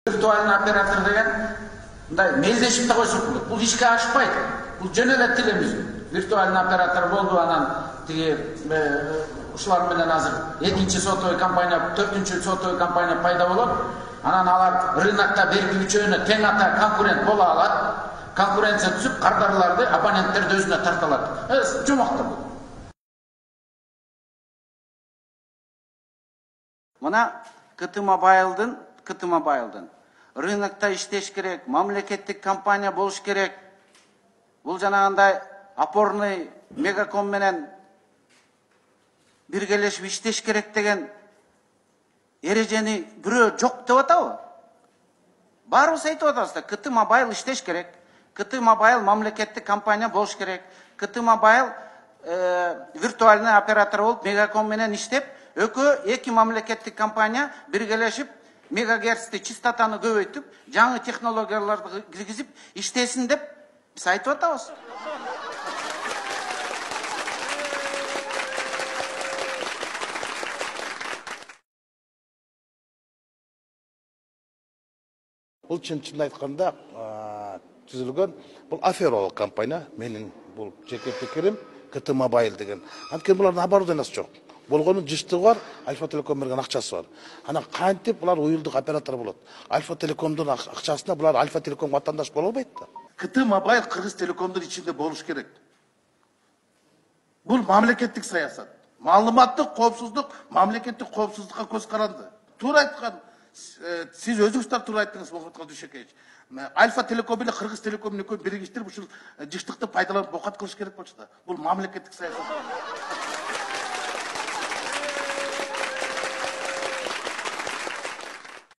Виртуальный оператор деген мындай мелдешип да койсок болот. Бул ишке ашпайт. Бул жөн эле тилебиз. Виртуальный оператор болду, анан тиги ушулар менен азыр экинчи сотовый компания, төртүнчү сотовый компания пайда болот. Анан алар рынокто берки үчөөнө тең ата конкурент боло алат. Конкуренция түсүп, кардарларды, абоненттерди өзүнө тарта алат. Жомоктор. Мына КТ Мобайлдын рынокто иштеш керек, мамлекеттик компания болуш керек. Бул жанагындай опорный Мегаком менен биргелешип иштеш керек деген эрежени бирөө жок деп атабы? Баарыбыз айтып атабыз да, КТ Мобайл иштеш керек. КТ Мобайл мамлекеттик компания болуш керек. КТ Мобайл виртуальный оператор болуп Мегаком менен иштеп, эки мамлекеттик компания биргелешип мегагерцти, частотаны көбөйтүп, жаңы технологияларды киргизип иштесин деп биз айтып атабыз. Бул чын айтканда түзүлгөн бул афералык компания. Менин бул жеке пикирим КТ Мобайл деген. Анткени булардын оборудованиясы жок. Болгонун жыштыгы бар, Альфа Телеком берген акчасы бар. Анан кантип булар уюлдук оператор болот? Альфа Телекомдун акчасына булар Альфа Телеком ватандаш боло албайт да. КТ Мобайл Кыргыз Телекомдун ичинде болуш керек. Бул мамлекеттик саясат. Маалыматтык коопсуздук, мамлекеттик коопсуздукка көз каранды. Туура айткан, сиз өзүңүз да туура айттыңыз, Мухаммад Дүйшөкеевич. Альфа Телеком менен Кыргыз Телеком экөө биригиштирип ушул жыштыкты пайдаланып окат кылыш керек болчу да. Бул мамлекеттик саясат.